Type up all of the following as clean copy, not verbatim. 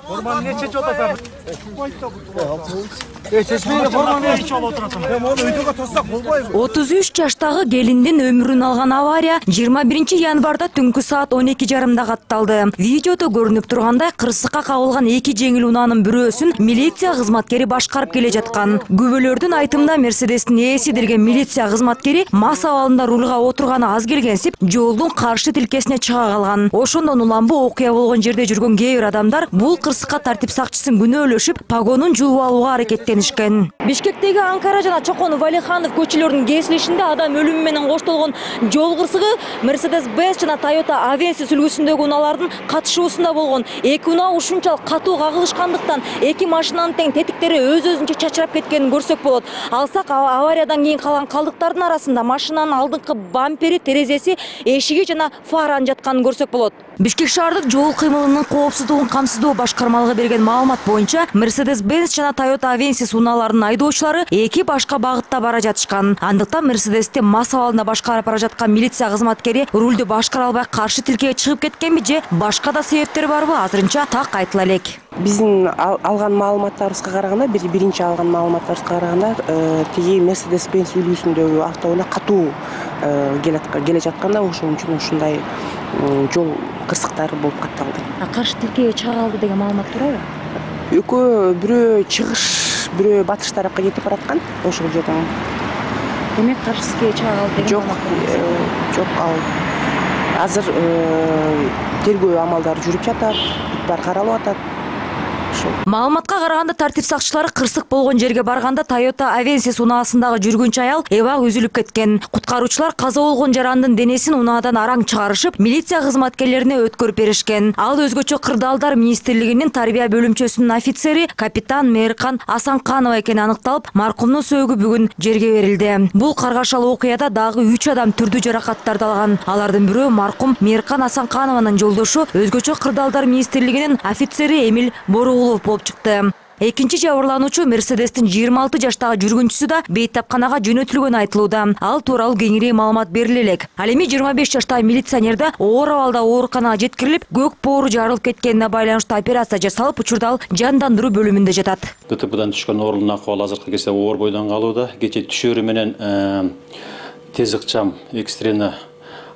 Форманы не чечип атасың? Чечмейди форманы ичип отурасың. Оны өйдөгө тоссак болбойбу? 33 жаштагы келиндин өмүрүн алган авария 21 январда түнкү саат 12:30 катталды. Видеодо көрүнүп тургандай кырсыкка кабылган эки жеңил унаанын бирөөсүн милиция кызматкери башкарып келе жаткан. Күбөлөрдүн айтымында Мерседестин ээси деген милиция кызматкери мас абалында рулга отурганы аз келгенсип, жолдун каршы тилкесине чыга калган. Ошондон улам бу окуя болгон жерде жүргөн кээ бир адамдар бул кырсыкка тартип сакчысын күнөөлөшүп, погонун жууп алууга аракеттенишкен. Бишкектеги Анкара жана Чокон Валиханов көчөлөрүнүн кесилишинде адам өлүмү менен коштолгон жол кырсыгы Mercedes-Benz жана Toyota Avensis үлгүсүндөгү унаалардын катышуусунда болгон. Эки унаа ушунчалык катуу кагылышкандыктан эки машинанын тең тетиктери өз-өзүнчө чачырап кеткенин көрсөк болот. Алсак авариядан кийин калган калдыктардын арасында машинанын алдыңкы бампери, терезеси, эшиги жана фараны жатканын көрсөк болот. Бишкек шаардык жол кыймылынын коопсуздугун камсыздоо башкармалыгы берген маалымат боюнча Mercedes-Benz жана Toyota Avensis унааларынын айдоочулары эки башка багытта бара жатышкан. Андыктан Mercedesти мас абалында башкарып бара жаткан милиция кызматкери рулду башкара албай каршы тилкеге чыгып кеткенби же башка да себептер барбы, азырынча так айтыла элек. Биздин алган маалыматтарыбызга караганда, биринчи алган маалыматтарыбызга караганда, тиги Mercedes-Benz үлгүсүндөгү автоунаа катуу келе жатканда, ошон үчүн ушундай жол кырсыктары болуп катталды. Каршы тилкеге чыга калды деген маалымат турабы? Экөө бирөө чыгыш, бирөө батыш тарапка кетип бараткан ошол жерден. Демек каршы тилкеге чыга калды деген Жок, ал азыр тергөө амалдары жүрүп жатат, баары каралып атат. Маалыматка караганда тартип сакчылары кырсык болгон жерге барганда Toyota Avensis унаасындагы жүргүнчү аял эбак үзүлүп кеткен. Куткаруучулар каза болгон жарандын денесин унаадан араң чыгарышып, милиция кызматкерлерине өткөрүп беришкен. Ал өзгөчө Кырдаалдар министрлигинин тарбия бөлүмчөсүнүн офицери капитан Мээркан Асанканова экени аныкталып, маркумдун сөөгү бүгүн жерге берилди. Бул каргашалуу окуяда дагы 3 адам түрдүү жаракаттарды алган. Алардын бирөө маркум Мээркан Асанканованын жолдошу, өзгөчө Кырдаалдар министрлигинин офицери Эмил Боругулов болуп чыкты. Экинчи жабырлануучу Мерседестин 26 жаштагы жүргүнчүсү да бейтапканага жөнөтүлгөнү айтылууда. Ал тууралуу кеңири маалымат бериле элек. Ал эми 25 жаштагы милиционер да оор абалда ооруканага жеткирилип, көк боору жарылып кеткенине байланыштуу операция жасалып, учурда ал жандандыруу бөлүмүндө жатат. ДТПдан түшкөн оорунун акыбалы азыркы кезде оор бойдон калууда. Кече түшөрү менен тез ыкчам экстрени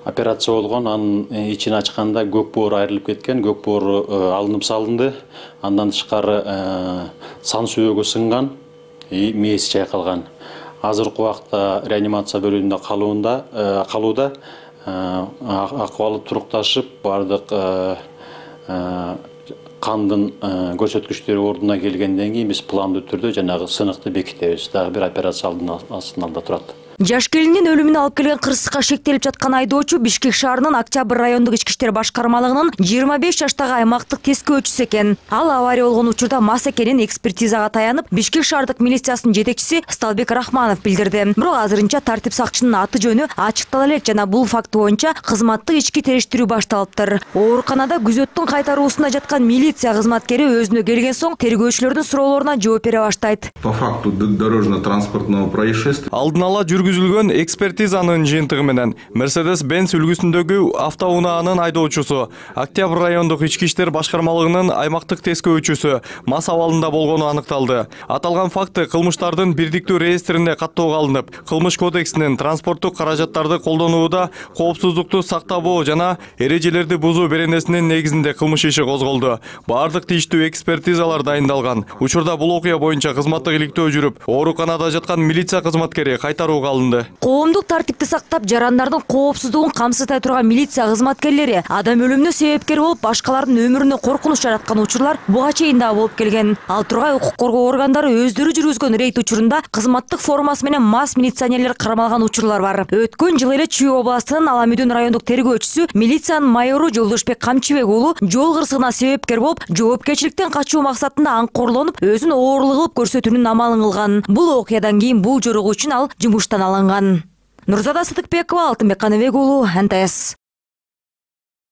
операция болгон, анын ичин ачканда көк боору айрылып кеткен, көк боору алынып салынды. Андан тышкары сан сүйөгү сынган, мээси чайкалган. Азыркы убакта реанимация бөлүмүндө калууда, акыбалы турукташып, бардык кандын көрсөткүчтөрү ордуна келгенден кийин биз пландуу түрдө жанагы сыныкты бекитебиз. Дагы бир операция алдында турат. Жаш келиндин өлүмүнө алып келген кырсыкка шектелип жаткан айдоочу Бишкек шаарынын Октябрь райондук ички иштер башкармалыгынын 25 жаштагы аймактык тескөөчүсү экен. Ал авария болгон учурда мас экенин экспертизага таянып, Бишкек шаардык милициясынын жетекчиси Сталбек Рахманов билдирди. Бирок азырынча тартип сакчынын аты жөнү ачыктала элек жана бул факт боюнча кызматтык ички териштирүү башталыптыр. Ооруканада күзөттүн кайтаруусунда жаткан милиция кызматкери өзүнө келген соң тергөөчүлөрдүн суроолоруна жооп бере баштайт. По факту дорожно-транспортного происшествия алдын ала жүргүзүлгөн экспертизанын жыйынтыгы менен Mercedes-Benz үлгүсүндөгү автоунаанын айдоочусу, Октябрь райондук ички иштер башкармалыгынын аймактык тескөөчүсү мас абалында болгону аныкталды. Аталган факты кылмыштардын бирдиктүү реестрине каттоого алынып, кылмыш кодексинин транспорттук каражаттарды колдонууда коопсуздукту сактабоо жана эрежелерди бузуу беренесинин негизинде кылмыш иши козголду. Бардык тийиштүү экспертизалар дайындалган. Учурда бул окуя боюнча кызматтык иликтөө жүрүп, ооруканада жаткан милиция кызматкери кайтарууга алынды. Коомдук тартипти сактап, жарандардын коопсуздугун камсыздай турган милиция кызматкерлери адам өлүмүнө себепкер болуп, башкалардын өмүрүнө коркунуч жараткан учурлар буга чейин да болуп келген. Ал тургай укук коргоо органдары өздөрү жүргүзгөн рейд учурунда кызматтык формасы менен мас милиционерлер кармалган учурлар бар. Өткөн жылы эле Чүй областынын Аламүдүн райондук тергөөчүсү, милициянын майору Жолдошбек Камчыбек уулу жол кырсыгына себепкер болуп, жоопкерчиликтен качуу максатында аңкорлонуп, өзүн оорлук кылып көрсөтүүнүн амалын кылган. Бул окуядан кийин бул жорогуу үчүн ал жумуштан алынган. Нурзада Сыдыкбекова, Алтынбек Каныбек уулу, НТС.